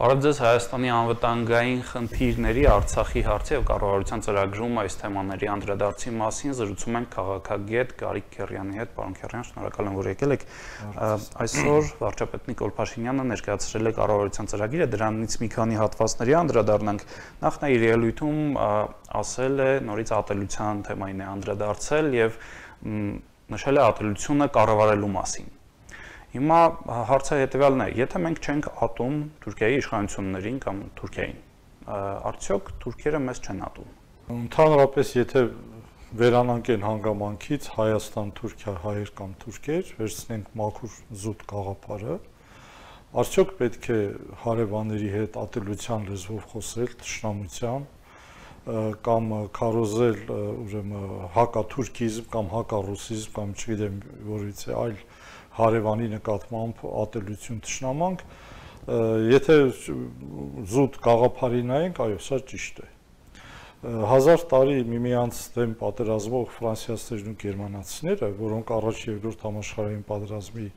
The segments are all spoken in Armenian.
Բարև ձեզ Հայաստանի անվտանգային խնդիրների, Արցախի հարցի եւ կառավարության ծրագրում այս թեմաների անդրադարձի մասին զրուցում ենք քաղաքագետ Գարիկ Քեռյանի հետ։ Պարոն Քեռյան, շնորհակալ եմ, որ եկել եք։ Այսօր վարչապետ Նիկոլ Փաշինյանը ներկայացրել է կառավարության ծրագիրը, դրանից մի քանի հատվածների անդրադառնանք։ Նախ նա իր ելույթում ասել է, նորից ատելության թեմային է անդրադարձել եւ նշել է ատելությունը կառավարելու մասին։ Հիմա հարցը հետևյալն է, եթե մենք չենք ատում Թուրքիայի իշխանություններին կամ Թուրքիային, արդյոք թուրքերը մեզ չեն ատում։ Ընդհանրապես, եթե վերանանքեն հանգամանքից Հայաստան, Թուրքիա, հայեր կամ թուրքեր, վերցնենք մաքուր զուտ գաղափարը, արդյոք պետք է հարևանների հետ ատելության լեզվով խոսել, թշնամության կամ քարոզել ուրեմն հակաթուրքիզմ կամ հակառուսիզմ կամ չգիտեմ որից է այլ հարևանի նկատմամբ ատելություն թշնամանք, եթե զուտ գաղափարի նայենք, այո, սա ճիշտ է։ 1000 տարի միմյանց դեմ պատերազմող ֆրանսիացիներն ու գերմանացիները, որոնք առաջ եւ երկրորդ համաշխարհային պատերազմի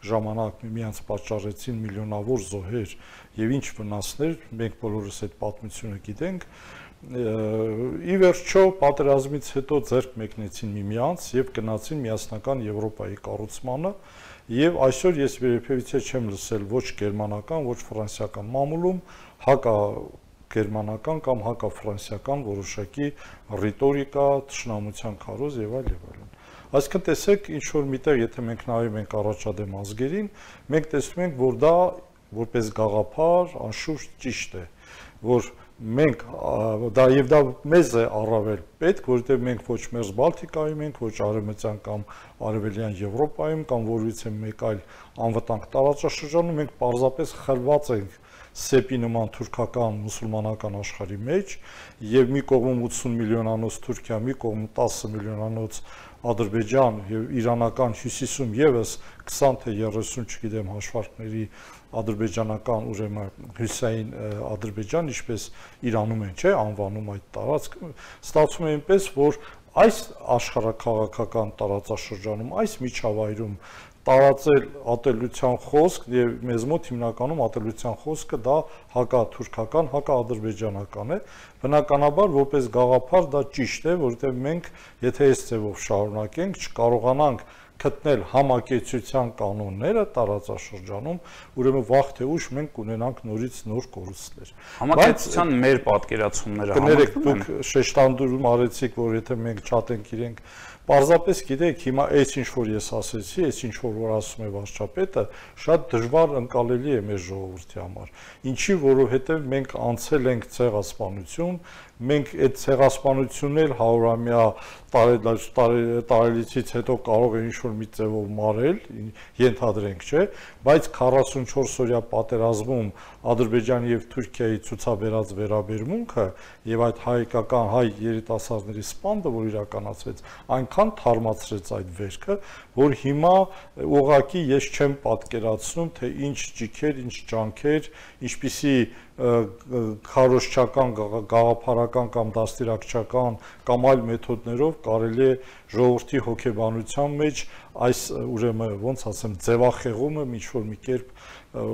ժամանակ միմյանց պատճառեցին միլիոնավոր զոհեր եւ ինչ վնասներ, մենք բոլորս այդ պատմությունը գիտենք, ի վերջո պատերազմից հետո ձեռք մեկնեցին միմյանց եւ գնացին միասնական Եվրոպայի կառուցմանը եւ այսօր ես երբևիցե չեմ լսել ոչ գերմանական, ոչ ֆրանսիական մամուլում հակա-գերմանական կամ հակա-ֆրանսիական որոշակի ռիտորիկա, թշնամության քարոզ եւ այլ եւ այլն։ Այսինքն տեսեք, ինչ որ միտեղ եթե մենք նայում ենք առաջադեմ ազգերին, մենք տեսնում ենք, որ դա որպես գաղափար անշուշտ ճիշտ է, որ մենք դա եւ դա մեզ է առավել պետք, որովհետեւ մենք ոչ մերձ Բալտիկայում ենք, ոչ արևմտյան կամ արևելյան Եվրոպայում կամ որևիցե մեկ այլ անվտանգ տարածաշրջանում, մենք պարզապես խրված ենք սեպի նման թուրքական մուսուլմանական աշխարհի մեջ եւ մի կողմում 80 միլիոնանոց Թուրքիա, մի կողմում 10 միլիոնանոց Ադրբեջան եւ իրանական հյուսիսում եւս 20 թե 30 չգիտեմ հաշվարկների ադրբեջանական ուրեմն հյուսային Ադրբեջան, ինչպես Իրանում են, չէ, անվանում այդ տարածքը, ստացվում է այնպես, որ այս աշխարհաքաղաքական տարածաշրջանում, այս միջավայրում տարածել ատելության խոսք եւ մեզ մոտ հիմնականում ատելության խոսքը դա հակաթուրքական, հակաադրբեջանական է, բնականաբար որպես գաղափար դա ճիշտ է, որովհետեւ մենք եթե այս ձևով շարունակենք, չկարողանանք գտնել համակեցության կանոնները տարածաշրջանում, ուրեմն վաղ թե ուշ մենք կունենանք նորից նոր կորուստներ։ Համակեցության մեր պատկերացումները համակցվում են։ Դուք շեշտանդուրում արեցիք, որ եթե մենք չատենք իրենք, պարզապես գիտեք, հիմա այս ինչ որ ես ասեցի, այս ինչ որ ասում է վարչապետը, շատ դժվար ընկալելի է մեր ժողովրդի համար։ Ինչի, որովհետև մենք անցել ենք ցեղասպանություն, մենք այդ ցեղասպանությունն էլ 100-ամյա տարելիցից հետո կարող է ինչ-որ մի ձևով մարել, ենթադրենք, չէ, բայց 44-օրյա պատերազմում Ադրբեջանի եւ Թուրքիայի ցուցաբերած վերաբերմունքը եւ այդ հայկական հայ երիտասարդների սպանդը, որ իրականացվեց, այնքան թարմացրեց այդ վերքը, որ հիմա ուղղակի ես չեմ պատկերացնում, թե ինչ ջիքեր, ինչ ջանքեր, ինչպիսի քարոզչական, գաղափարական կամ դաստիարակչական կամ այլ մեթոդներով կարելի է ժողովրդի հոգեբանության մեջ այս ուրեմն ոնց ասեմ ձևախեղումը ինչ-որ մի կերպ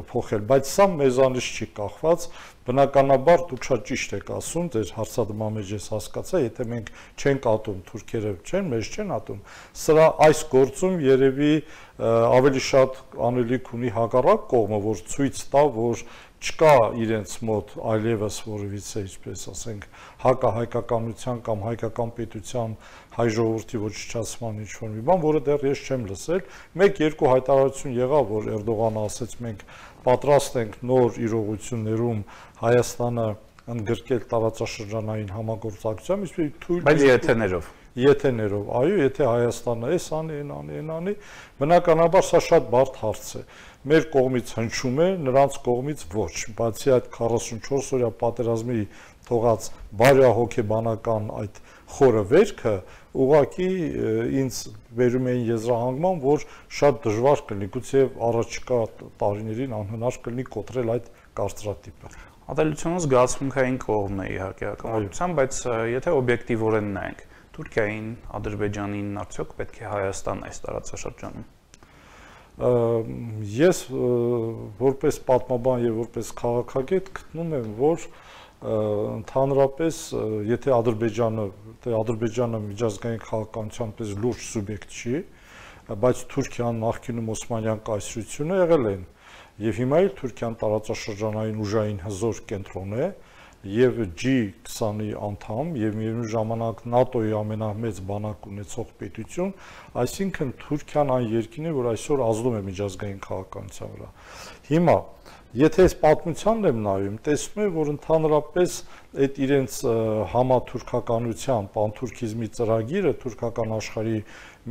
փոխել, բայց սա մեզանից չի կախված, բնականաբար դուք շատ ճիշտ եք ասում, ձեր հարցադրման մեջ ես հասկացա, եթե մենք չենք ատում, թուրքերը չեն, մեզ չեն ատում, սրա այս գործում երևի ավելի շատ անելիք ունի հակառակ կողմը, որ ցույց տա, որ չկա իրենց մոտ այլևս որևիցե, ինչպես ասենք, հակահայկականության կամ հայկական պետության հայ ժողովրդի ոչնչացման ինչ-որ մի բան, որը դեռ ես չեմ լսել, մեկ-երկու հայտարարություն եղավ, որ Էրդողանը ասեց մենք պատրաստ ենք նոր իրողություններում Հայաստանը ընդգրկել տարածաշրջանային համագործակցությամբ, իսկ թույլ բայց եթեներով, այո, եթե Հայաստանը էս անի, այն անի, բնականաբար սա շատ բարդ հարց է։ Մեր կողմից հնչում է, նրանց կողմից ոչ, բացի այդ 44-օրյա պատերազմի թողած բարյահոգեբանական այդ խորը վերքը, ուղղակի ինձ վերում էին եզրահանգման, որ շատ դժվար կլինի, գուցե առաջիկա տարիներին անհնար կլինի կոտրել այդ կարծրատիպը։ Ատելությունը զգացմունքային կողմն է իհարկե հակամարտության, բայց եթե օբյեկտիվորեն նայենք, Թուրքիային, Ադրբեջանին արդյոք պետք է Հայաստան այս տարածաշրջանում։ ես որպես պատմաբան եւ որպես քաղաքագետ գտնում եմ, որ ընդհանրապես եթե Ադրբեջանը միջազգային քաղաքականության պես լուրջ սուբյեկտ չի, բայց Թուրքիան նախկինում Օսմանյան կայսրությունը եղել են եւ հիմա էլ Թուրքիան տարածաշրջանային ուժային հզոր կենտրոն է եւ G20-ի անդամ եւ միևնույն ժամանակ ՆԱՏՕ-ի ամենամեծ բանակ ունեցող պետություն, այսինքն Թուրքիան այն երկիրն է, որ այսօր ազդում է միջազգային քաղաքականության վրա։ Հիմա եթե այս պատմությանն եմ նայում, տեսնում եմ, որ ընդհանրապես այդ իրենց համաթուրքականության, պանթուրքիզմի ծրագիրը, թուրքական աշխարհի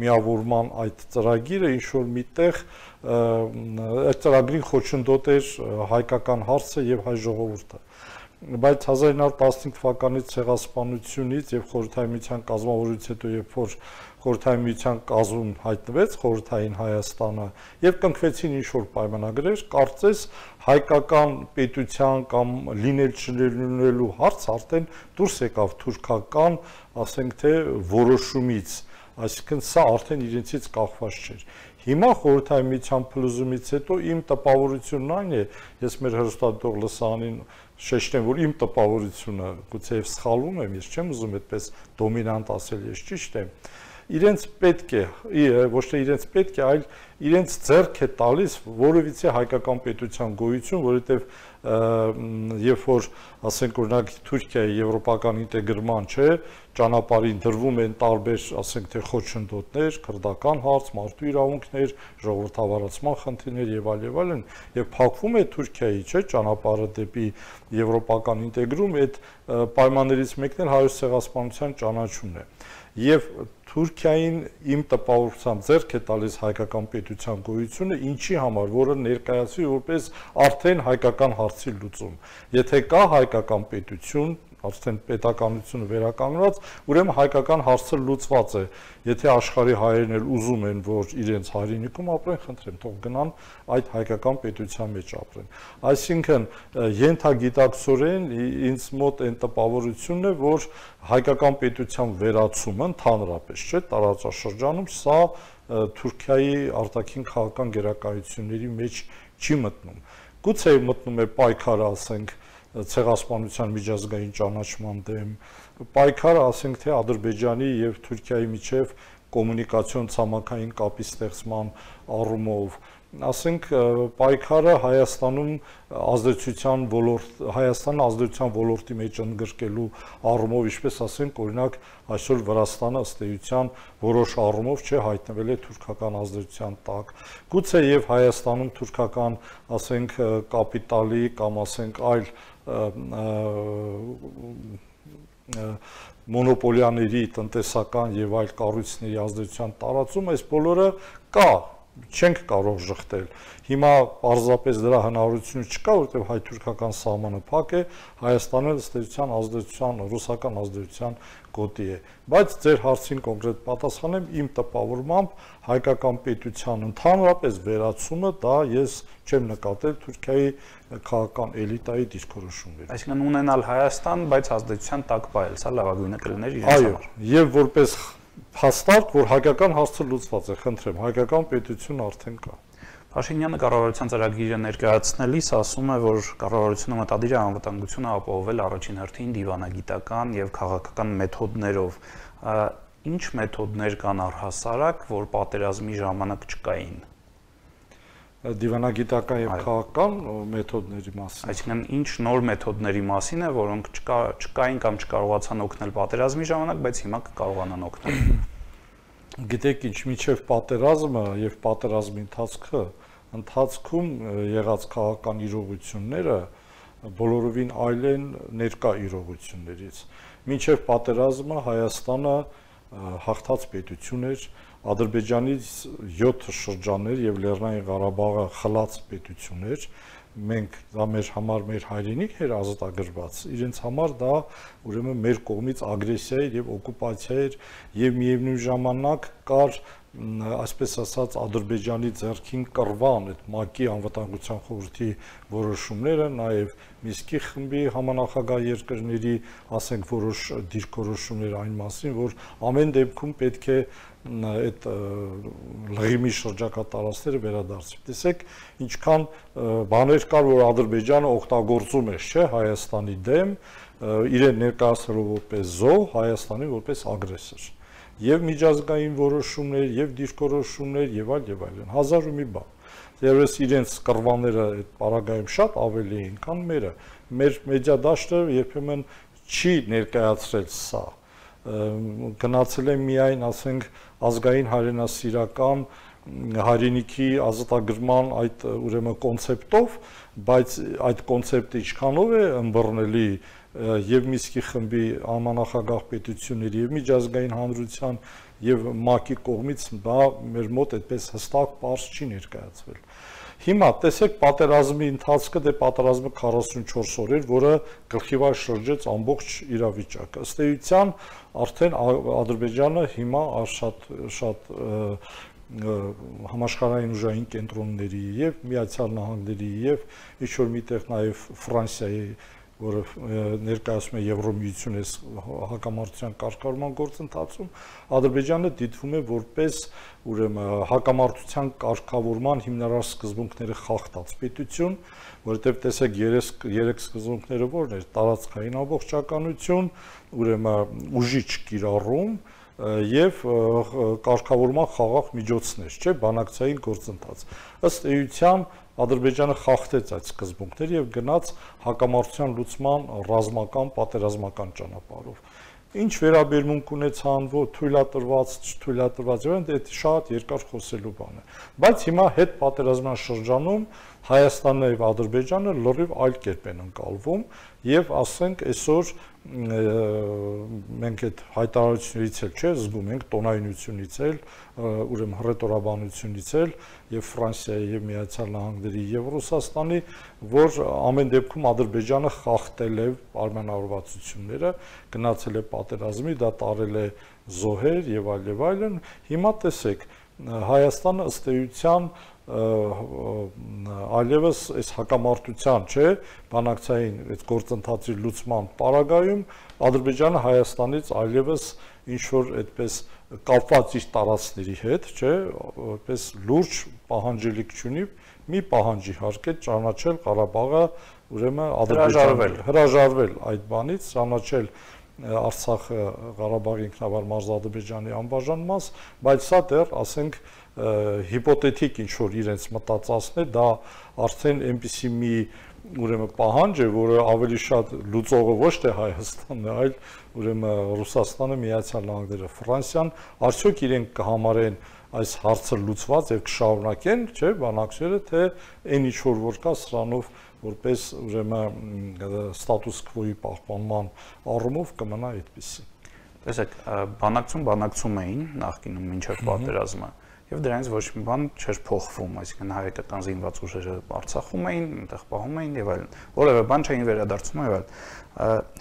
միավորման այդ ծրագիրը ինչ որ միտեղ այդ ծրագրին խոչընդոտ էր հայկական հարցը եւ հայ ժողովուրդը։ Բայց 1915 թվականից ցեղասպանությունից եւ Խորհրդային Միության կազմավորումից հետո, երբ որ Խորհրդային Միության կազմում հայտնվեց Խորհրդային Հայաստանը եւ կնքվեցին ինչ-որ պայմանագրեր, կարծես հայկական պետության կամ լինել չլինելու հարց արդեն դուրս եկավ թուրքական, ասենք թե որոշումից, այսինքն սա արդեն իրենցից կախված չէր։ Հիմա Խորհրդային Միության փլուզումից հետո իմ տպավորությունն այն է, ես մեր հեռուստադիտող լսարանին շեշտեմ, որ իմ տպավորությունը գուցե եւ սխալվում եմ, ես չեմ ուզում այդպես դոմինանտ ասել, ես ճիշտ եմ։ Իրենց պետք է, ոչ թե իրենց պետք է, այլ իրենց ձեռք է տալիս որևիցե հայկական պետության գոյություն, որովհետեւ երբ որ ասենք օրինակ Թուրքիայի եվրոպական ինտեգրման չէ, ճանապարհին դրվում են տարբեր, ասենք թե խոչընդոտներ, քրդական հարց, մարդու իրավունքներ, ժողովրդավարացման խնդիրներ եւ այլն, եւ փակվում է Թուրքիայի, չէ, ճանապարհը դեպի եվրոպական ինտեգրում, այդ պայմաններից մեկն էլ հայոց ցեղասպանության ճանաչումն է։ Եվ Թուրքիային իմ տպավորությամբ ձեռք է տալիս հայկական պետության գոյությունը, ինչի համար, որը ներկայացվի որպես արդեն հայկական հարցի լուծում։ Եթե կա հայկական պետություն, արդեն պետականությունը վերականգնված, ուրեմն հայկական հարցը լուծված է։ Եթե աշխարհի հայերն էլ ուզում են, որ իրենց հայրենիքում ապրեն, խնդրեմ, թող գնան այդ հայկական պետության մեջ ապրեն։ Այսինքն ենթագիտակցորեն ինձ մոտ այն տպավորությունն է, որ հայկական պետության վերացումը ընդհանրապես, չէ, տարածաշրջանում սա Թուրքիայի արտաքին քաղաքական գերակայությունների մեջ չի մտնում։ Գուցե մտնում է պայքարը, ասենք, ցեղասպանության միջազգային ճանաչման դեմ, պայքարը, ասենք թե Ադրբեջանի եւ Թուրքիայի միջև կոմունիկացիոն ցամաքային կապի ստեղծման առումով, ասենք պայքարը Հայաստանը ազդեցության ոլորտի մեջ ընդգրկելու առումով, ինչպես ասենք, օրինակ այսօր Վրաստանը ըստ էության որոշ առումով չէ հայտնվել է թուրքական ազդեցության տակ։ Գուցե եւ Հայաստանում թուրքական, ասենք, կապիտալի կամ ասենք այլ մոնոպոլիաների տնտեսական եւ այլ կառույցների ազդեցության տարածում, այս բոլորը կա, չենք կարող շղթել։ Հիմա պարզապես դրա հնարավորությունը չկա, որովհետեւ հայ-թուրքական սահմանը փակ է, Հայաստանը ըստ էության ազդեցության, ռուսական ազդեցության գոտի է։ Բայց ձեր հարցին կոնկրետ պատասխանեմ, իմ տպավորմամբ հայկական պետության ընդհանրապես վերացումը դա ես չեմ նկատել Թուրքիայի քաղաքական էլիտայի դիսկուրսումներում։ Այսինքն ունենալ Հայաստան, բայց ազդեցության տակ բայել, սա լավագույնը կլիներ իրենց համար։ Այո, եւ որպես հաստատ, որ հայկական հարցը լուծված է, խնդրեմ, հայկական պետություն արդեն կա։ Փաշինյանը կառավարության ծրագիրը ներկայացնելիս ասում է, որ կառավարությունը մտադիր է անվտանգությունը ապահովել առաջին հերթին դիվանագիտական եւ քաղաքական մեթոդներով։ Ինչ մեթոդներ կան առհասարակ, որ պատերազմի ժամանակ չկային։ Դիվանագիտական եւ քաղաքական մեթոդների մասին։ Այսինքն ինչ նոր մեթոդների մասին է, որոնք չկային կամ չկարողացան օգնել պատերազմի ժամանակ, բայց հիմա կկարողանան օգնել։ Գիտեք ինչ, միջև պատերազմը եւ պատերազմի ընթացքում եղած քաղաքական իրողությունները բոլորովին այլ են ներկա իրողություններից։ Միջև պատերազմը Հայաստանը հաղթած պետություն էր, Ադրբեջանից 7 շրջաններ եւ Լեռնային Ղարաբաղը խլած պետություն էր, մենք դա մեր համար մեր հայրենիք էր ազատագրված, իրենց համար դա ուրեմն մեր կողմից ագրեսիա էր եւ օկուպացիա էր եւ միևնույն ժամանակ կար այսպես ասած Ադրբեջանի ձեռքին կռվան այդ ՄԱԿ-ի անվտանգության խորհրդի որոշումները, նաև Միսկի խմբի համանախագահ երկրների, ասենք, որոշ դիրքորոշումներ այն մասին, որ ամեն դեպքում պետք է այդ լղիմի շրջակա տարածքները վերադարձվի։ Տեսեք, ինչքան բաներ կար, որ Ադրբեջանը օգտագործում է, չէ, Հայաստանի դեմ, իրեն ներկայացնելով որպես զոհ, Հայաստանին որպես ագրեսոր։ Եվ միջազգային որոշումներ, եւ դիրքորոշումներ, եւ այլն, հազար ու մի բան։ Եվս իրենց կռվանները այդ պարագայում շատ ավելի են, քան մերը։ Մեր մեդիա դաշտը երբեմն չի ներկայացրել սա։ Գնացել է միայն, ասենք, ազգային հայրենասիրական հայրենիքի ազատագրման այդ ուրեմն կոնցեպտով, բայց այդ կոնցեպտը ինչքանով է ըմբռնելի եւ Միսկի խմբի համանախագահ պետությունների եւ միջազգային հանրության եւ ՄԱԿ-ի կողմից դա մեր մոտ այդպես հստակ պարզ չի ներկայացվել։ Հիմա տեսեք պատերազմի ընթացքը, դե պատերազմը 44 օր էր, որը գլխիվար շրջեց ամբողջ իրավիճակը։ Ըստ էության արդեն Ադրբեջանը հիմա շատ համաշխարհային ուժային կենտրոնների եւ Միացյալ Նահանգների եւ ինչ-որ միտեղ նաեւ Ֆրանսիայի, որը ներկայացում է Եվրոմիությունը հակամարտության կարգավորման գործընթացում, Ադրբեջանը դիտվում է որպես ուրեմն հակամարտության կարգավորման հիմնարար սկզբունքները խախտած պետություն, որովհետև տեսեք երեք սկզբունքները որն էր՝ տարածքային ամբողջականություն, ուրեմն ուժի չկիրառում եւ կարգավորման խաղաղ միջոցներ, չէ, բանակցային գործընթաց։ Ըստ էության Ադրբեջանը խախտեց այդ սկզբունքները եւ գնաց հակամարտության լուծման ռազմական, պատերազմական ճանապարհով։ Ինչ վերաբերմունք ունեցան, թույլատրված, չթույլատրված, դա շատ երկար խոսելու բան է։ Բայց հիմա հետ պատերազմյան շրջանում Հայաստանն եւ Ադրբեջանը լրիվ այլ կերպ են ընկալվում եւ ասենք այսօր մենք այդ հայտարարությունից էլ չէ զգում ենք տոնայնությունից էլ, ուրեմն հռետորաբանությունից էլ եւ Ֆրանսիայի եւ Միացյալ Նահանգների եւ Ռուսաստանի, որ ամեն դեպքում Ադրբեջանը խախտել է պայմանավորվածությունները, գնացել է պատերազմի, դա տարել է զոհեր եւ այլն։ Հիմա տեսեք, Հայաստանը ըստ էության այլևս այս հակամարտության, չէ, բանակցային այս գործընթացի լուծման պարագայում Ադրբեջանը Հայաստանից այլևս ինչ որ այդպես կապված իր տարածքների հետ, չէ, այդպես լուրջ պահանջելիք չունի, մի պահանջ իհարկե ճանաչել Ղարաբաղը, ուրեմն Ադրբեջանը հրաժարվել այդ բանից, ճանաչել Արցախը Ղարաբաղի ինքնավար մարզադրբեջանի անբաժան մաս, բայց սա դեռ, ասենք, հիպոթետիկ ինչ որ իրենց մտածածն է, դա արդեն այնպիսի մի ուրեմն պահանջ է, որը ավելի շատ լուծողը ոչ թե Հայաստանն է, այլ ուրեմն Ռուսաստանը, Միացյալ Նահանգները, Ֆրանսիան, արդյոք իրենք կհամարեն այս հարցը լուծված եւ կշարունակեն, չէ, բանակցները, թե այն ինչ որ կա սրանով որպես ուրեմն ստատուս քվոյի պահպանման առումով կմնա այդպեսի։ Տեսեք, բանակցում էին նախկինում մինչև պատերազմը եւ դրանից ոչ մի բան չէր փոխվում, այսինքն հայկական զինված ուժերը Արցախում էին, այնտեղ պահում էին եւ այլն, որևէ բան չէին վերադարձնում եւ այլն։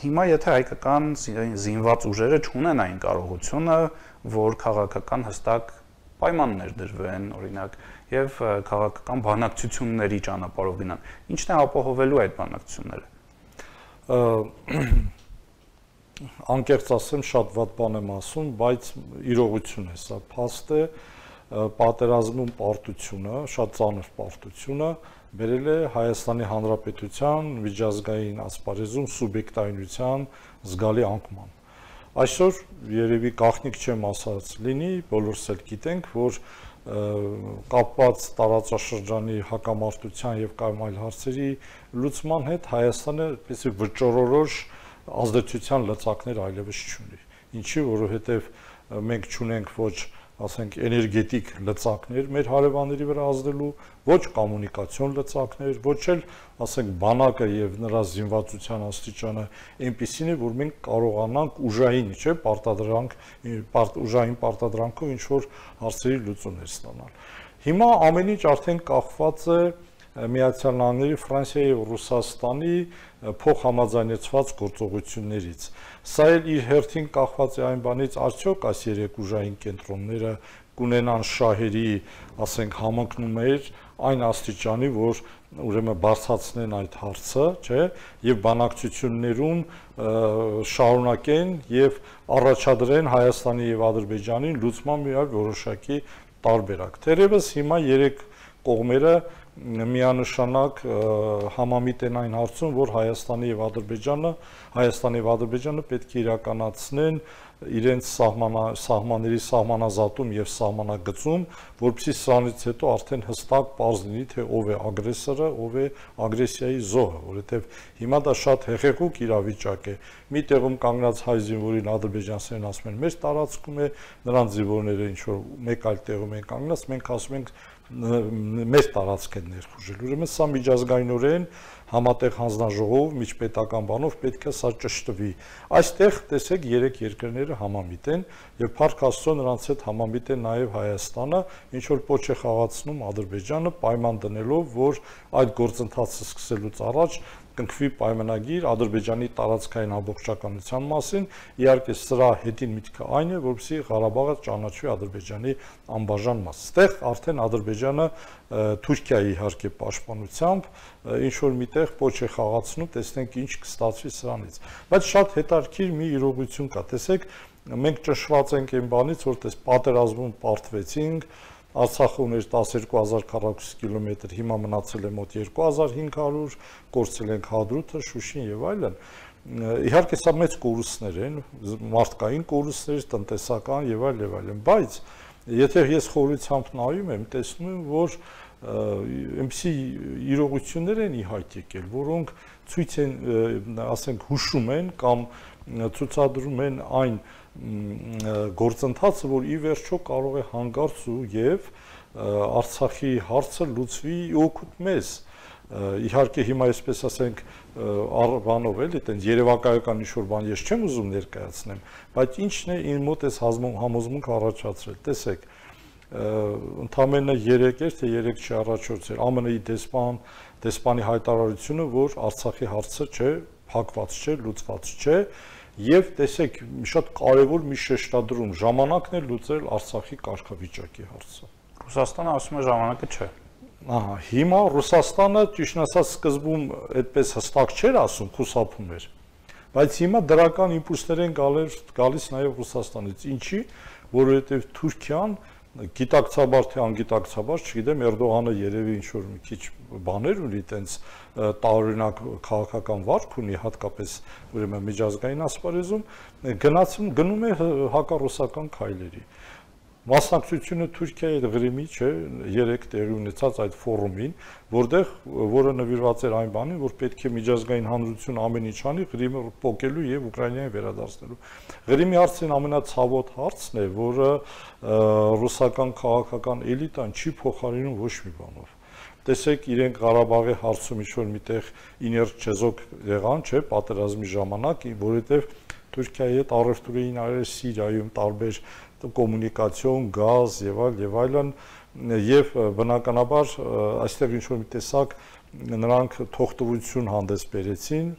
Հիմա եթե հայկական զինված ուժերը չունեն այն կարողությունը, որ քաղաքական հստակ պայմաններ դրվեն, օրինակ, եւ քաղաքական բանակցությունների ճանապարհով գնան, ինչն է ապահովելու այդ բանակցությունները։ Անկեղծ ասեմ, շատ վատ բան եմ ասում, բայց իրողություն է սա, փաստ է, պատերազմում պարտությունը, շատ ծանր պարտությունը բերել է Հայաստանի Հանրապետության միջազգային ասպարեզում սուբյեկտայնության զգալի անկման։ Այսօր երևի գաղտնիք չեմ ասած լինի, բոլորս էլ գիտենք, որ կապված տարածաշրջանի հակամարտության եւ կամ այլ հարցերի լուծման հետ Հայաստանը այսպես վճռորոշ ազդեցության լծակներ այլևս չունի։ Ինչի, որովհետեւ մենք չունենք ոչ, ասենք, էներգետիկ լծակներ մեր հարևանների վրա ազդելու, ոչ կոմունիկացիոն լծակներ, ոչ էլ, ասենք, բանակը եւ նրա զինվածության աստիճանը այնպեսին է, որ մենք կարողանանք ուժային, չէ, ուժային պարտադրանքով ինչ որ հարցերի լուծումներ ստանալ։ Հիմա ամեն ինչ արդեն կախված է Միացյալ Նահանգների, Ֆրանսիայի ու Ռուսաստանի փոխհամաձայնեցված գործողություններից։ Սա էլ իր հերթին կախված է այն բանից, արդյոք այս երեք ուժային կենտրոնները կունենան շահերի, ասենք, համընկնումներ այն աստիճանի, որ ուրեմն բարձրացնեն այդ հարցը, չէ, եւ բանակցություններում շարունակեն եւ առաջադրեն Հայաստանի եւ Ադրբեջանի լուծման մի այլ որոշակի տարբերակ։ Թերևս հիմա երեք կողմերը միանշանակ համամիտ են այն հարցում, որ Հայաստանի եւ Ադրբեջանը պետք է իրականացնեն իրենց սահմանների սահմանազատում եւ սահմանագծում, որպեսզի սրանից հետո արդեն հստակ պարզ լինի, թե ով է ագրեսորը, ով է ագրեսիայի զոհը, որովհետեւ հիմա դա շատ հեղեղուկ իրավիճակ է։ Մի տեղում կանգնած հայ զինվորին ադրբեջանցիներն ասում են, մեր տարածքում է, նրանց զինվորները ինչ որ մեկ այլ տեղում են կանգնած, մենք ասում ենք մեր տարածք են ներխուժել։ Ուրեմն սա միջազգայինորեն համատեղ հանձնաժողով միջպետական բանով պետք է սա ճշտվի։ Այստեղ տեսեք երեք երկրները համամիտ են եւ փառք Աստծո նրանց հետ համամիտ է նաեւ Հայաստանը, ինչ որ պոչ է խաղացնում Ադրբեջանը պայման դնելով, որ այդ գործընթացը սկսելուց առաջ կնքվի պայմանագիր Ադրբեջանի տարածքային ամբողջականության մասին, իհարկե սրա հետին միտքը այն է, որպեսզի Ղարաբաղը ճանաչվի Ադրբեջանի անբաժան մաս։ Այստեղ արդեն Ադրբեջանը Թուրքիայի իհարկե պաշտպանությամբ ինչ որ միտեղ պոչ է խաղացնում, տեսնենք ինչ կստացվի սրանից։ Բայց շատ հետաքրքիր մի իրողություն կա, տեսեք, մենք ճշված ենք այն բանից, որ տես պատերազմում պարտվեցինք, Արցախը ուներ 12000 քառակուսի կիլոմետր, հիմա մնացել է մոտ 2500, կորցրել ենք Հադրութը, Շուշին եւ այլն։ Իհարկե սա մեծ կորուստներ են, մարդկային կորուստներ, տնտեսական եւ այլն, բայց եթե ես խորությամբ նայում եմ, տեսնում եմ, որ այնպիսի իրողություններ են ի հայտ եկել, որոնք ցույց են, ասենք, հուշում են կամ ցուցադրում են այն գործընթացը, որ ի վերջո կարող է հանգարց ու եւ Արցախի հարցը լուծվի օգուտ մեզ։ Իհարկե հիմա այսպես ասենք բանով էլի, այտենց երևակայական ինչ-որ բան ես չեմ ուզում ներկայացնեմ, բայց ինչն է իմ մոտ էս համոզմունք առաջացրել։ Տեսեք, ընդամենը 3 էր, թե 3 չի առաջորդել ԱՄՆ-ի դեսպանի հայտարարությունը, որ Արցախի հարցը չէ, փակված չէ, լուծված չէ, եւ տեսեք, շատ կարեւոր մի շեշտադրում, ժամանակն է լուծել Արցախի կարգավիճակի հարցը։ Ռուսաստանը ասում է ժամանակը չէ։ Ահա, հիմա Ռուսաստանը ճիշտ ասած սկզբում այդպես հստակ չէր ասում, խուսափում էր, բայց հիմա դրական իմպուլսներ են գալիս նաեւ Ռուսաստանից։ Ինչի, որովհետեւ Թուրքիան գիտակցաբար թե անգիտակցաբար, չգիտեմ, Էրդողանը երևի ինչ որ մի քիչ բաներ ունի, տենց տարօրինակ քաղաքական վարք ունի, հատկապես ուրեմն միջազգային ասպարեզում, գնում է հակառուսական քայլերի։ Մասնակցությունը Թուրքիայի հետ Ղրիմի, չէ, 3 տեղի ունեցած այդ ֆորումին, որը նվիրված էր այն բանին, որ պետք է միջազգային հանրություն ամեն ինչ անի Ղրիմը փոկելու եւ Ուկրաինային վերադարձնելու։ Ղրիմի հարցն ամենացավոտ հարցն է, որը ռուսական քաղաքական էլիտան չի փոխարինում ոչ մի բանով։ Տեսեք, իրենք Ղարաբաղի հարցում ինչ-որ միտեղ իներտ չեզոք եղան, չէ, պատերազմի ժամանակ, որովհետեւ Թուրքիայի հետ առևտուր էին արել Սիրիայում տարբեր կոմունիկացիոն, գազ եւ այլն, եւ բնականաբար այստեղ ինչ-որ մի տեսակ նրանք թողտվություն հանդես բերեցին,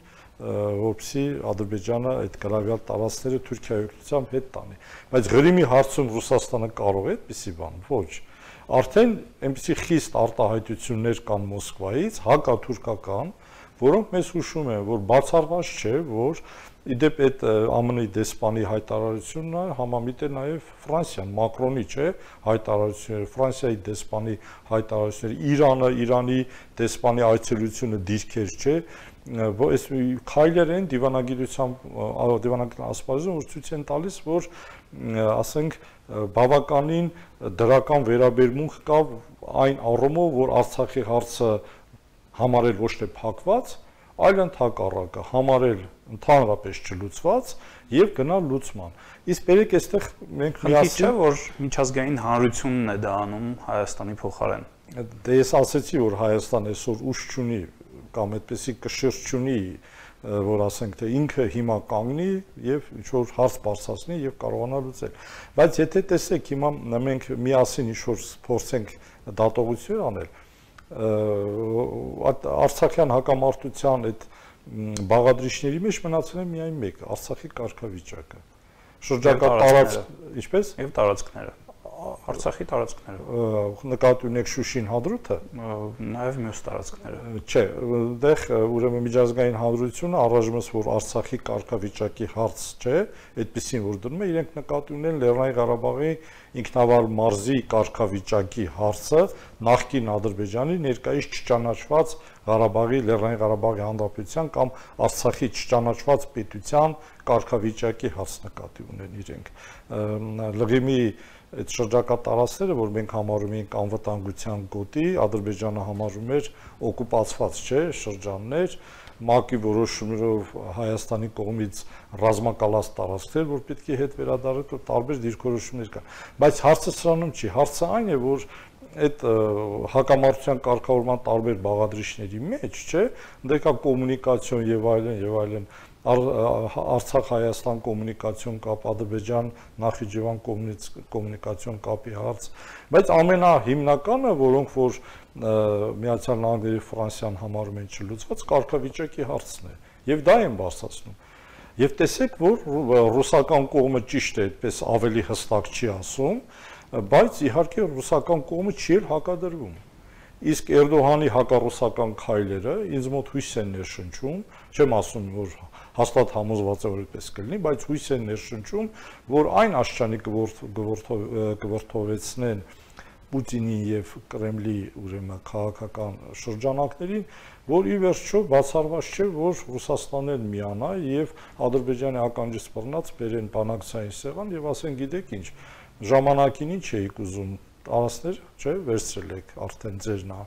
որպեսզի Ադրբեջանը այդ գրավյալ տարածքները Թուրքիայի օգնությամբ հետ տանի։ Բայց Ղրիմի հարցում Ռուսաստանը կարող է այդպիսի բան, ոչ։ Արդեն այնպիսի խիստ արտահայտություններ կան Մոսկվայից, հակաթուրքական, որոնք մեզ հուշում են, որ բացառված չէ, որ իդեպ այդ ԱՄՆ-ի դեսպանի հայտարարությունն համամիտ է նաև Ֆրանսիան, Մակրոնի, չէ, հայտարարությունները, Ֆրանսիայի դեսպանի հայտարարությունները, Իրանը, Իրանի դեսպանի այցելությունը դիրքեր չէ, այս քայլեր են դիվանագիտության ասպարեզում, որ ցույց են տալիս, որ ասենք բավականին դրական վերաբերմունք կա այն առումով, որ Արցախի հարցը համարել ոչ թե փակված, այլ ընդհակառակը համարել ընդհանրապես չլուծված եւ գնալ լուծման։ Իսկ բերեք այստեղ մենք միասին չէ, որ միջազգային հանրությունն է դա անում Հայաստանի փոխարեն։ Դե ես ասացի, որ Հայաստան այսօր ուժ չունի կամ այդպեսի կշիռ չունի, որ ասենք թե ինքը հիմա կանգնի եւ ինչ որ հարց բարձրացնի եւ կարողանա լուծել։ Բայց եթե տեսեք հիմա մենք միասին ինչ որ փորձենք դատողություն անել, Արցախյան հակամարտության այդ բաղադրիչների մեջ մնացել է միայն մեկը՝ Արցախի կարգավիճակը։ Շրջակա տարածք, ինչպես եւ տարածքները, Արցախի տարածքները։ Նկատի ունեք Շուշին հադրութը, նաեւ մյուս տարածքները։ Չէ, այնտեղ ուրեմն միջազգային հանրությունը առայժմ որ Արցախի կարգավիճակի հարց չէ, այդպեսին որ դնում է, իրենք նկատի ունեն Լեռնային Ղարաբաղի ինքնավար մարզի կարգավիճակի հարցը նախկին Ադրբեջանի ներկայիս չճանաչված Ղարաբաղի Լեռնային Ղարաբաղի Հանրապետության կամ Արցախի չճանաչված պետության կարգավիճակի հարց նկատի ունեն իրենք։ Լղիմի այդ շրջակա տարածքները, որ մենք համարում ենք անվտանգության գոտի, Ադրբեջանը համարում էր օկուպացված չէ շրջաններ, ՄԱԿ-ի որոշումներով Հայաստանի կողմից ռազմակալած տարածքներ, որ պետք է հետ վերադառնալ, տարբեր դիրքորոշումներ կան։ Բայց հարցը սրանում չի, հարցը այն է, որ այդ հակամարտության կարգավորման տարբեր բաղադրիչների մեջ, չէ, դե կա կոմունիկացիոն եւ այլն, Արցախ-Հայաստան կոմունիկացիոն կապ, Ադրբեջան-Նախիջևան կոմունիկացիոն կապի հարց, բայց ամենահիմնականը, որոնք որ Միացյալ Նահանգների Ֆրանսիան համարում են չլուծված, կարգավիճակի հարցն է, եւ դա են բարձրացնում։ Եվ տեսեք, որ ռուսական կողմը ճիշտ է, այդպես ավելի հստակ չի ասում, բայց իհարկե ռուսական կողմը չի էլ հակադրվում։ Իսկ Էրդողանի հակառուսական քայլերը ինձ մոտ հույս են ներշնչում, չեմ ասում, որ հաստատ համոզված է որ այդպես կլինի, բայց հույս են ներշնչում, որ այն աշճանի կվրթովեցնեն Պուտինի եւ Կրեմլի ուրեմն քաղաքական շրջանակներին, որ ի վերջո բացառված չէ, որ Ռուսաստանն միանա եւ Ադրբեջանի ականջից բռնած բերեն բանակցային սեղան եւ ասեն, գիտեք ինչ, ժամանակին ինչ էիք ուզում տարածքներ, չէ, վերցրել եք արդեն ձերն է։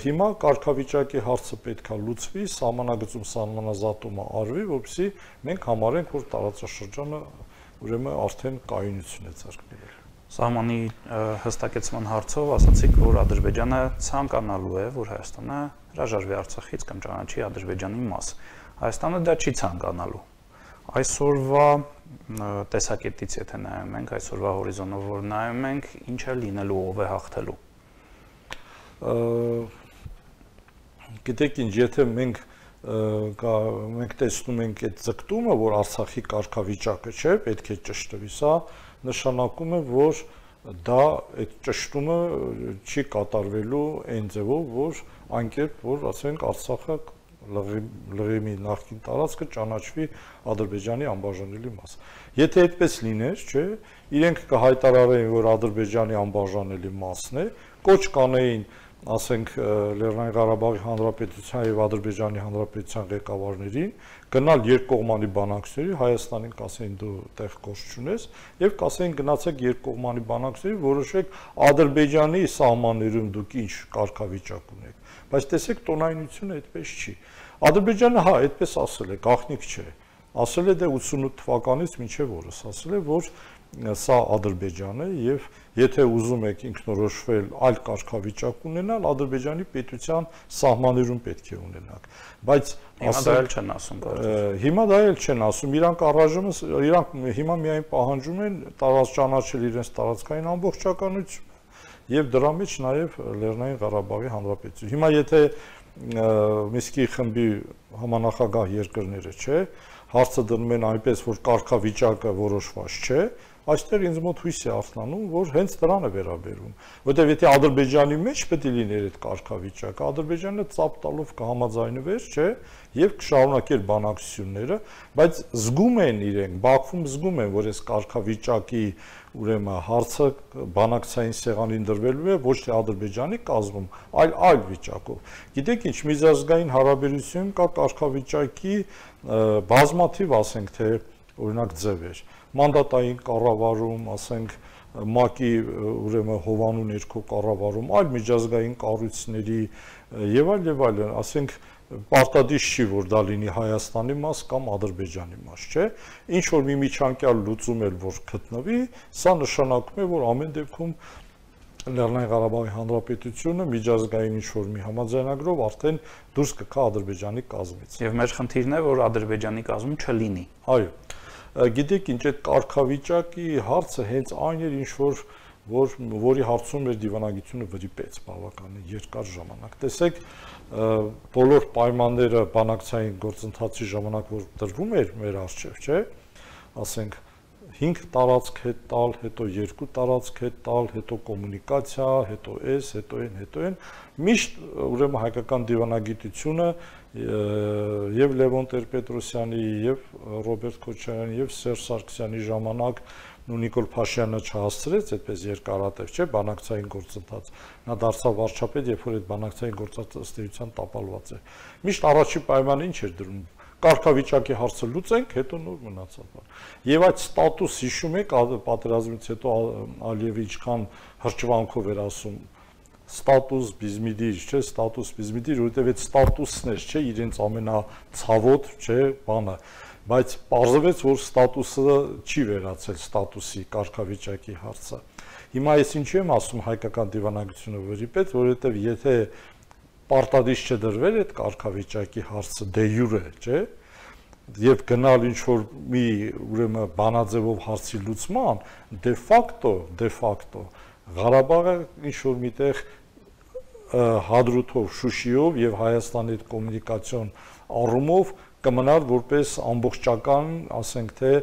Հիմա կարգավիճակի հարցը պետքա լուծվի, սահմանագծում սահմանազատումը արվի, որպեսզի մենք համարենք, որ տարածաշրջանը ուրեմն արդեն կայունություն է ձեռք բերել։ Սահմանի հստակեցման հարցով ասացիք, որ Ադրբեջանը ցանկանալու է, որ Հայաստանը հրաժարվի Արցախից կամ ճանաչի Ադրբեջանի մաս։ Հայաստանը դա չի ցանկանալու։ Այսօրվա տեսակետից եթե նայում ենք, այսօրվա հորիզոնով որ նայում ենք, ինչ է լինելու, ով է հաղթելու։ Գիտեք ինչ, եթե մենք տեսնում ենք այդ ձգտումը, որ Արցախի կարգավիճակը չէ, պետք է ճշտվի, սա նշանակում է, որ դա այդ ճշտումը չի կատարվելու այն ձևով, որ անկերպ, որ ասենք Արցախը լղիմի նախկին տարածքը ճանաչվի Ադրբեջանի անբաժանելի մաս։ Եթե այդպես լիներ, չէ, իրենք կհայտարարեին, որ Ադրբեջանի անբաժանելի մասն է, կոչ կանեին, ասենք Լեռնային Ղարաբաղի Հանրապետության եւ Ադրբեջանի Հանրապետության ղեկավարներին, գնալ երկկողմանի բանակցությունների, Հայաստանին կասեին դու տեղ գործ չունես, եւ կասեին գնացեք երկկողմանի բանակցությունների, որոշեք Ադրբեջանի սահմաններում դուք ինչ կարգավիճակ ունեք։ Բայց տեսեք, տոնայնությունը այդպես չի։ Ադրբեջանը հա, այդպես ասել է, գաղտնիք չէ։ Ասել է դե 88 թվականից մինչև օրս, ասել է, որ սա Ադրբեջան է եւ եթե ուզում եք ինքնորոշվել այլ կարգավիճակ ունենալ, Ադրբեջանի պետության սահմաններում պետք է ունենաք։ Բայց հիմա դա էլ չեն ասում կարծես։ Հիմա դա էլ չեն ասում, իրանք առայժմ իրանք հիմա միայն պահանջում են ճանաչել իրենց տարածքային ամբողջականությունը եւ դրա մեջ նաեւ Լեռնային Ղարաբաղի Հանրապետություն։ Հիմա եթե Միսկի խմբի համանախագահ երկրները, չէ, հարցը դնում են այնպես, որ կարգավիճակը որոշված չէ, այստեղ ինձ մոտ հույս է արթնանում, որ հենց դրան է վերաբերում, որտեղ եթե Ադրբեջանի մեջ պետք է լիներ այդ կարգավիճակը, Ադրբեջանը ծափ տալով կհամաձայնվեր, չէ, եւ կշարունակեր բանակցությունները, բայց զգում են իրենք, Բաքվում զգում են, որ այս կարգավիճակի ուրեմն հարցը բանակցային սեղանին դրվելու է ոչ թե Ադրբեջանի կազմում, այլ վիճակով։ Գիտեք ինչ, միջազգային հարաբերությունում կա կարգավիճակի բազմաթիվ, ասենք թե օրինակ ձևեր, մանդատային կառավարում, ասենք ՄԱԿ-ի ուրեմն հովանու ներքո կառավարում, այլ միջազգային կառույցների եւ այլն, ասենք պարտադիր չի, որ դա լինի Հայաստանի մաս կամ Ադրբեջանի մաս, չէ։ Ինչ որ մի միջանկյալ լուծում էլ որ գտնվի, սա նշանակում է, որ ամեն դեպքում Լեռնային Ղարաբաղի Հանրապետությունը միջազգային ինչ որ մի համաձայնագրով արդեն դուրս կգա Ադրբեջանի կազմից։ Եվ մեր խնդիրն է, որ Ադրբեջանի կազմում չլինի։ Այո։ Գիտեք ինչ, այդ կարգավիճակի հարցը հենց այն էր, ինչ որ որի հարցում մեր դիվանագիտությունը վրիպեց բավականին երկար ժամանակ։ Տեսեք, բոլոր պայմանները բանակցային գործընթացի ժամանակ որ տրվում էր մեր առջև, չէ՞, ասենք 5 տարածք հետ տալ, հետո 2 տարածք հետ տալ, հետո կոմունիկացիա, հետո հետո այն, միշտ ուրեմն հայկական դիվանագիտությունը եւ Լևոն Տեր-Պետրոսյանի եւ Ռոբերտ Քոչարյանի եւ Սերժ Սարգսյանի ժամանակ Նիկոլ Փաշյանը չհասցրեց այդպես երկարատև, չէ, բանակցային գործընթաց։ Նա դարձավ վարչապետ, երբ որ այդ բանակցային գործընթացը ըստ էության տապալված է։ Միշտ առաջի պայմանը ինչ էր դրում։ Կարգավիճակի հարցը լուծենք, հետո նոր մնացած բան։ Եվ այդ ստատուս հիշում եք, պատերազմից հետո Ալիևը ինչքան հրճվանքով էր ասում ստատուս բիզմիդիր, չէ, ստատուս բիզմիդիր, որովհետև այդ ստատուսն էր, չէ, իրենց ամենացավոտ, չէ, բանը, բայց պարզվեց, որ ստատուսը չի վերացել ստատուսի կարգավիճակի հարցը։ Հիմա ես ինչու եմ ասում հայկական դիվանագիտությունը վրիպեց, որովհետև եթե պարտադիր չդրվել այդ կարգավիճակի հարցը դե յուրե, չէ, եւ գնալ ինչ որ մի ուրեմն բանաձևով հարցի լուծման, դե ֆակտո Ղարաբաղը ինչ որ միտեղ հադրութով, Շուշիով եւ Հայաստանի հետ կոմունիկացիոն առումով կմնար որպես ամբողջական, ասենք թե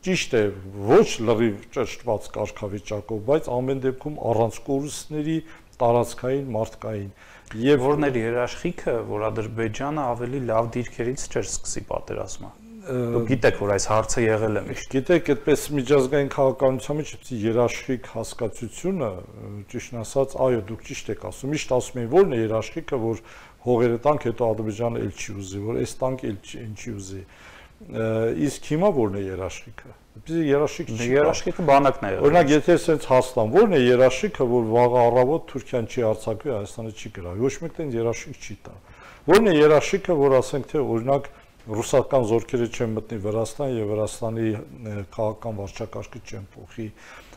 ճիշտ է, ոչ լրիվ ճշտված կարգավիճակով, բայց ամեն դեպքում առանց կորուստների տարածքային, մարդկային եւ որներ երաշխիքը, որ Ադրբեջանը ավելի լավ դիրքերից չէր սկսի պատերազմը։ Դուք գիտեք, որ այս հարցը եղել է միշտ։ Գիտեք, այդպես միջազգային քաղաքականության մեջ երաշխիք հասկացությունը, ճիշտ ասած, այո, դուք ճիշտ եք ասում, միշտ ասում են, որն է երաշխիքը, որ հողերը տանք, հետո Ադրբեջանը էլ չի ուզի, որ այս տանք էլ չի ուզի։ Իսկ հիմա որն է երաշխիքը։ Այդպես երաշխիք չի։ Երաշխիքը բանակն է։ Օրինակ, եթե ասենց Հայաստան, որն է երաշխիքը, որ վաղը առավոտ Թուրքիան չի արձակվի, Հայաստանը չի գրավի։ Ոչ մեկն երաշխիք չի տա։ Որն է երաշխիքը, որ ասենք թե օրինակ ռուսական զորքերը չեն մտնի Վրաստան եւ Վրաստանի քաղաքական վարչակարգը չեն փոխի։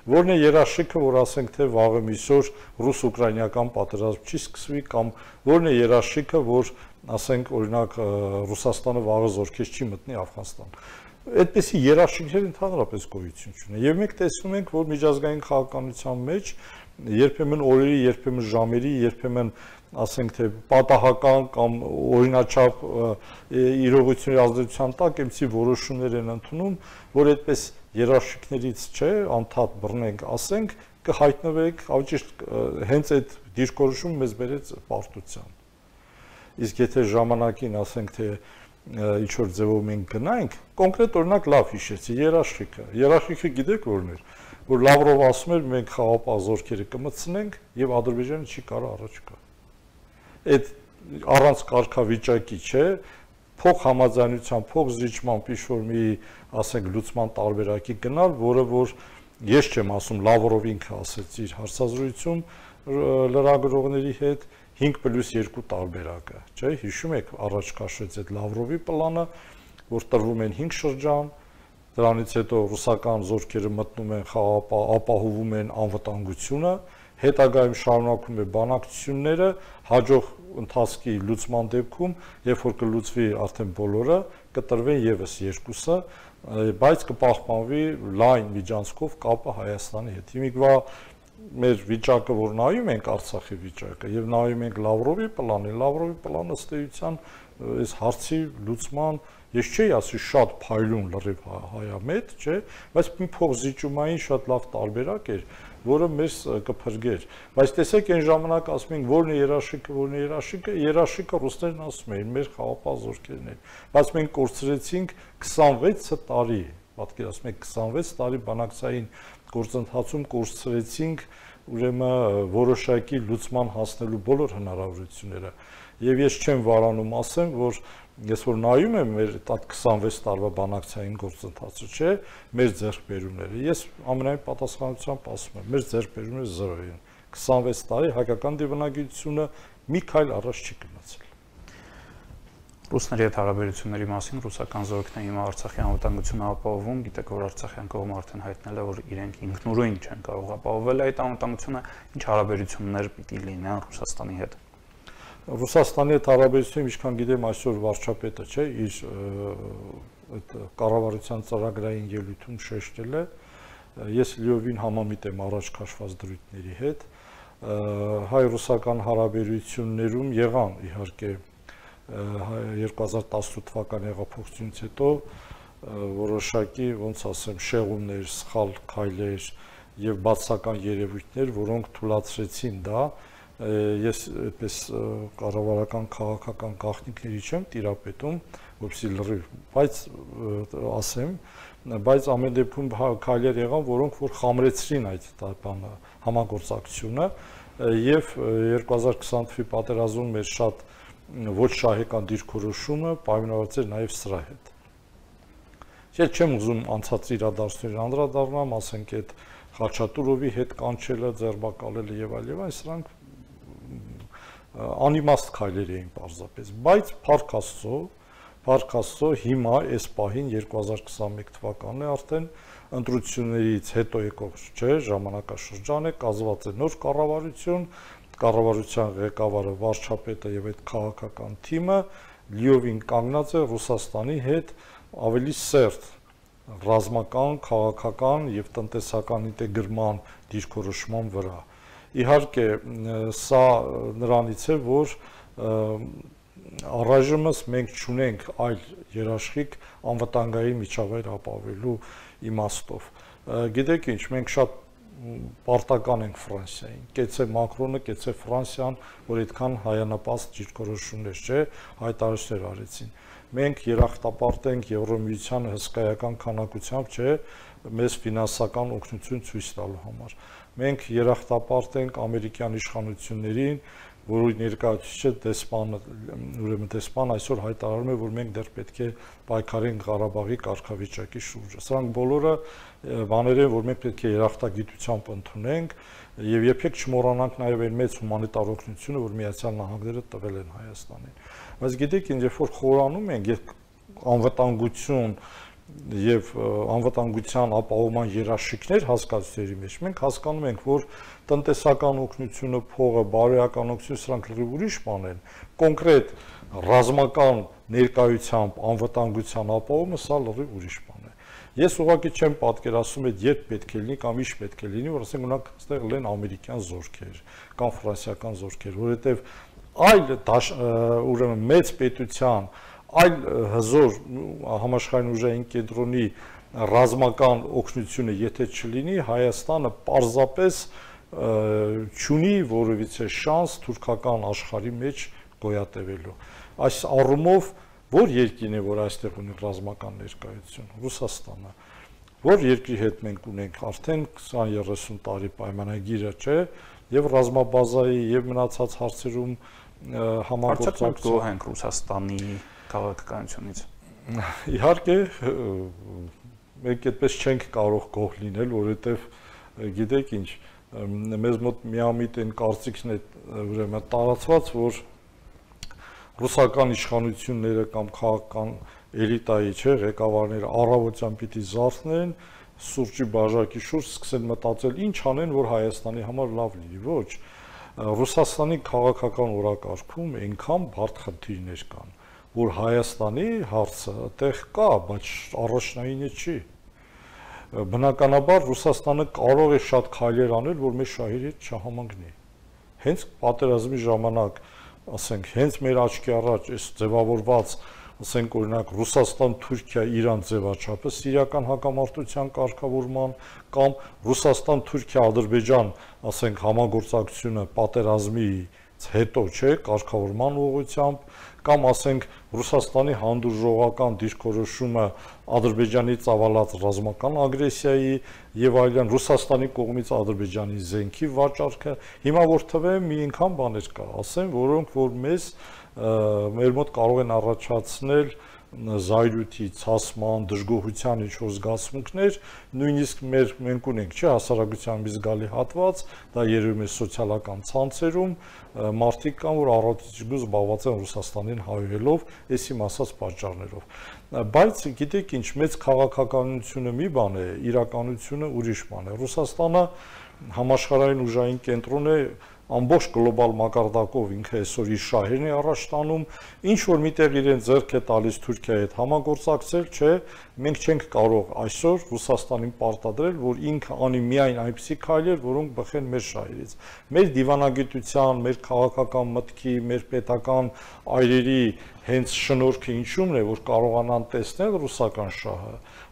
Որն է երաշխիքը, որ ասենք թե վաղը միսօր ռուս-ուկրաինական պատերազմ չի սկսվի կամ որն է երաշխիքը, որ ասենք օրինակ Ռուսաստանը վաղը զորքեր չի մտնի Աֆղանստան։ Այդպիսի երաշխիքներ ընդհանրապես գոյություն չունեն։ Եվ մենք տեսնում ենք, որ միջազգային քաղաքականության մեջ երբեմն օրերի, երբեմն ժամերի, երբեմն ասենք թե պատահական կամ օրինաչափ իրողությունների ազդեցության տակ այնպիսի որոշումներ են ընդունում, որ այդպես երաշխիքներից չէ, անդադ բռնենք, ասենք, կհայտնվեք, ավճիշտ հենց այդ դիրքորոշումը մեզ բերեց պարտության։ Իսկ եթե ժամանակին ասենք թե ինչ որ ձևով մենք գնայինք, կոնկրետ օրինակ լավ հիշեցի, երաշխիքը գիտեք որն էր, որ Լավրովը ասում էր մենք խաղապահ զորքերը կմտցնենք եւ Ադրբեջանը չի կարող առաջ գա։ Այդ առանց կարգավիճակի չէ, փող համաձայնության, փող զիջման ինչ-որ մի, ասենք, լուծման տարբերակի գնալ, որը որ ես չեմ ասում, Լավրով ինքը ասեց իր հարցազրույցում լրագրողների հետ 5+2 տարբերակը, չէ՞, հիշում եք, առաջ քաշեց այդ Լավրովի պլանը, որ տրվում են 5 շրջան, դրանից հետո ռուսական զորքերը մտնում են խաղապահ, ապահովում են անվտանգությունը, հետագայում շարունակում է բանակցությունները, հաջող ընթացքի լուծման դեպքում, երբ որ կլուծվի արդեն բոլորը, կտրվեն եւս 2-ը, բայց կպահպանվի լայն միջանցքով կապը Հայաստանի հետ։ Հիմիկվա մեր վիճակը, որ նայում ենք Արցախի վիճակը եւ նայում ենք Լավրովի պլանը ըստ էության այս հարցի լուծման ես չէի ասի շատ փայլուն լրիվ հայամետ, չէ, բայց մի փոխզիջումային շատ լավ տարբերակ էր, որը մեզ կփրկեր։ Բայց տեսեք այն ժամանակ ասում ենք որն է երաշխիքը, երաշխիքը ռուսներն ասում էին մեր խաղապահ զորքերն են։ Բայց մենք կորցրեցինք 26 տարի, պատկերացնում եք 26 տարի բանակցային գործընթացում կորցրեցինք ուրեմն որոշակի լուծման հասնելու բոլոր հնարավորությունները։ Եվ ես չեմ վարանում ասեմ, որ ես որ նայում եմ մեր 26 տարվա բանակցային գործընթացը, չէ, մեր ձեռքբերումները, ես ամենայն պատասխանությամբ ասում եմ, մեր ձեռքբերումները 0 են։ 26 տարի հայկական դիվանագիտությունը մի քայլ առաջ չի գնացել։ Ռուսների հետ հարաբերությունների մասին ռուսական զորքն է հիմա Արցախի անվտանգությունը ապահովում, գիտեք, որ Արցախյան կողմը արդեն հայտնել է, որ իրենք ինքնուրույն չեն կարող ապահովել այդ անվտանգությունը, ինչ հարաբերություններ պիտի լինեն Ռուսաստանի հետ։ Ռուսաստանի հետ հարաբերությունները, ինչքան գիտեմ, այսօր վարչապետը, չէ, իր այդ կառավարության ծրագրային ելույթում շեշտել է, ես լիովին համամիտ եմ առաջ քաշված դրույթների հետ, հայ-ռուսական հարաբերություններում եղան իհարկե 2018 թվականի հեղափոխությունից հետո որոշակի, ոնց ասեմ, շեղումներ, սխալ քայլեր եւ բացական երևույթներ, որոնք թույլատրեցին դա, ես այդպես կառավարական քաղաքական գաղտնիքների չեմ տիրապետում, որպեսզի լրիվ, բայց ասեմ, բայց ամեն դեպքում քայլեր եղան, որոնք որ խամրեցրին այդ բանը համագործակցությունը եւ 2020 թվականի պատերազմում մեր շատ ոչ շահեկան դիրքորոշումը պայմանավորված էր նաեւ սրա հետ։ Ես չեմ ուզում անցած իրադարձություններին անդրադառնամ, ասենք այդ Խաչատուրովի հետ կանչելը, ձերբակալելը եւ այլն, սրանք անիմաստ քայլեր էին պարզապես, բայց Փառք Աստծո հիմա այս պահին 2021 թվականն է արդեն ընտրություններից հետո եկող չէ, ժամանակաշրջան է, կազմված է նոր կառավարություն, կառավարության ղեկավարը վարչապետը եւ այդ քաղաքական թիմը լիովին կանգնած է Ռուսաստանի հետ ավելի սերտ ռազմական, քաղաքական եւ տնտեսական ինտեգրման դիրքորոշման վրա։ Իհարկե, սա նրանից է, որ առայժմս մենք չունենք այլ երաշխիք անվտանգային միջավայր ապավելու իմաստով։ Գիտեք ինչ, մենք շատ պարտական ենք Ֆրանսիային, կեցե Մակրոնը, կեցե Ֆրանսիան, որ այդքան հայանապաստ դիրքորոշումներ, չէ, հայտարարություններ արեցին։ Մենք երախտապարտ ենք Եվրոմիության հսկայական քանակությամբ, չէ, մեզ ֆինանսական օգնություն ցույց տալու համար։ Մենք երախտապարտ ենք ամերիկյան իշխանություններին, որի ներկայացուցիչը դեսպանը, ուրեմն դեսպան այսօր հայտարարում է, որ մենք դեռ պետք է պայքարենք Ղարաբաղի կարգավիճակի շուրջը։ Սրանք բոլորը բաներ են, որ մենք պետք է երախտագիտությամբ ընդունենք եւ երբեք չմոռանանք նաեւ այն մեծ հումանիտար օգնությունը, որ Միացյալ Նահանգները տվել են Հայաստանին։ Բայց գիտեք, երբ որ խորանում ենք անվտանգություն եւ անվտանգության ապահովման երաշխիքներ հասկացությունների մեջ, մենք հասկանում ենք, որ տնտեսական օգնությունը, փողը, բարոյական օգնությունը սրանք լրիվ ուրիշ բան են։ Կոնկրետ ռազմական ներկայությամբ անվտանգության ապահովումը սա լրիվ ուրիշ բան է։ Ես ուղղակի չեմ պատկերացնում այդ երբ պետք է լինի կամ ինչ պետք է լինի, որ ասենք ունակ այստեղ լինեն ամերիկյան զորքեր կամ ֆրանսիական զորքեր, որովհետեւ այլ ուրեմն մեծ պետության այլ հզոր համաշխարհային ուժային կենտրոնի ռազմական օգնությունը եթե չլինի, Հայաստանը պարզապես չունի որևիցե շանս թուրքական աշխարհի մեջ գոյատևելու։ Այս առումով որ երկիրն է, որ այստեղ ունի ռազմական ներկայություն, Ռուսաստանը, որ երկրի հետ մենք ունենք արդեն 20-30 տարի պայմանագիրը, չէ, եւ ռազմաբազայի եւ մնացած հարցերում համագործակցություն ենք Ռուսաստանի քաղաքականությունից։ Իհարկե, մենք այդպես չենք կարող գոհ լինել, որովհետև գիտեք ինչ, մեզ մոտ միամիտ են կարծիքն է ուրեմն տարածված, որ ռուսական իշխանությունները կամ քաղաքական էլիտայի, չէ, ղեկավարները առավոտյան պիտի զարթնեն, սուրճի բաժակի շուրջ սկսեն մտածել ինչ անեն, որ Հայաստանի համար լավ լինի։ Ոչ, Ռուսաստանի քաղաքական օրակարգում այնքան բարդ խնդիրներ կան, որ Հայաստանի հարցը այդտեղ կա, բայց առաջնայինը չի։ Բնականաբար Ռուսաստանը կարող է շատ քայլեր անել, որ մեր շահերի հետ չհամընկնի։ Հենց պատերազմի ժամանակ, ասենք, հենց մեր աչքի առաջ այս ձևավորված, ասենք օրինակ Ռուսաստան-Թուրքիա-Իրան ձևաչափը սիրիական հակամարտության կարգավորման կամ Ռուսաստան-Թուրքիա-Ադրբեջան, ասենք, համագործակցությունը պատերազմից հետո, չէ, կարգավորման ուղղությամբ կամ ասենք Ռուսաստանի հանդուրժողական դիրքորոշումը Ադրբեջանի ծավալած ռազմական ագրեսիայի եւ այլն, Ռուսաստանի կողմից Ադրբեջանի զենքի վաճառքը, հիմա որ թվեմ մի անգամ բաներ կա, ասեմ, որոնք որ մեր մոտ կարող են առաջացնել զայրույթի, ցասման, դժգոհության ինչ-որ զգացմունքներ, նույնիսկ մենք ունենք, չէ, հասարակության մի զգալի հատված, դա երևում է սոցիալական ցանցերում, մարդիկ կան, որ առատիճգու զբաղված են Ռուսաստանին հայհոյելով, այսիմ ասած պատճառներով։ Բայց գիտեք ինչ, մեծ քաղաքականությունը մի բան է, իրականությունը ուրիշ բան է։ Ռուսաստանը համաշխարհային ուժային կենտրոն է ամբողջ գլոբալ մակարդակով ինքը այսօր իր շահերն է առաջ տանում, ինչ որ միտեղ իրեն ձեռք է տալիս Թուրքիայի հետ համագործակցել, չէ, մենք չենք կարող այսօր Ռուսաստանին պարտադրել, որ ինքը անի միայն այնպիսի քայլեր, որոնք բխեն մեր շահերից։ Մեր դիվանագիտության, մեր քաղաքական մտքի, մեր պետական այրերի հենց շնորհքը ինչումն է, որ կարողանան տեսնել ռուսական շահը,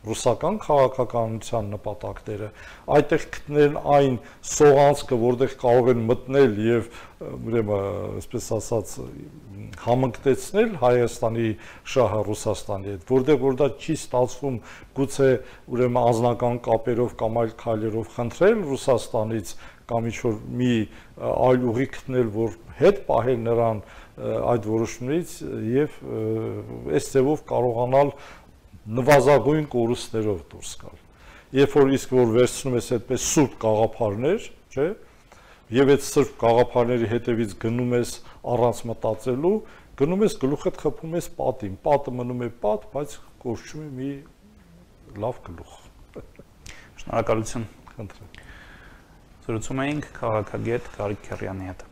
ռուսական քաղաքականության նպատակները, այդտեղ գտնել այն սողանցքը, որտեղ կարող են մտնել եւ ուրեմն, այսպես ասած, համընկտեցնել Հայաստանի շահը Ռուսաստանի հետ, որտեղ որ դա չի ստացվում, գուցե ուրեմն անձնական կապերով կամ այլ քայլերով խնդրել Ռուսաստանից կամ ինչ-որ մի այլ ուղի գտնել, որ հետ պահել նրան այդ որոշումներից եւ այս ձևով կարողանալ նվազագույն կորուստներով դուրս գալ։ Երբ որ իսկ որ վերցնում ես այդպես սուրբ գաղափարներ, չէ՞, եւ այդ սուրբ գաղափարների հետևից գնում ես առանց մտածելու, գնում ես գլուխդ խփում ես պատին, պատը մնում է պատ, բայց կորչում է մի լավ գլուխ։ Շնորհակալություն։ Խնդրեմ։ Զրուցում էինք քաղաքագետ Գարիկ Քեռյանի հետ։